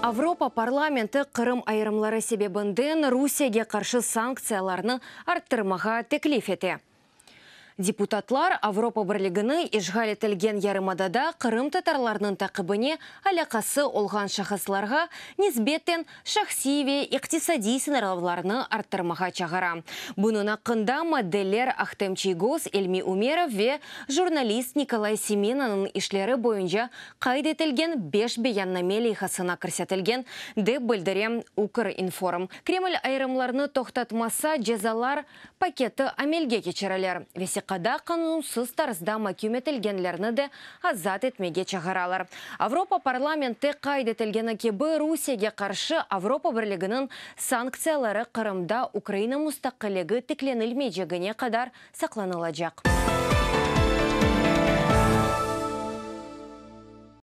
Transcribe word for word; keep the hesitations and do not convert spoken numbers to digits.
Avropa parlamenti Qırım ayırımları sebebinden Rusiyege qarşı sanktsiyalarnı arttırmağa teklif ete. Deputatlar Avropa Birligini işğal etilgen yarımadada qırımtatarlarnıñ taqibine alâqası olğan şahıslarğa nisbeten şahsiy ve iqtisadiy sıñırlavlarnı arttırmağa çağıra. Bunıñ aqqında maddeler Ahtem Çiygoz, İlmi Umerov ve jurnalist Nikolay Semenanıñ işleri boyunca qayd etilgen beş beyanname leyhasına kirsetilgen, dep bildire Ukrinform. Kreml ayırımlarnı toqtatmasa, cezalar paketi amelge keçirilir. Vesiqada qanunsız tarzda maküm etilgenlerni de azat etmege çağıralar. Avropa parlamenti qayd etilgeni kibi, Rusiyege qarşı Avropa Birliginiñ sanktsiyaları Qırımda Ukraina mustaqilligi tiklenilmeycegine qadar saqlanılacaq.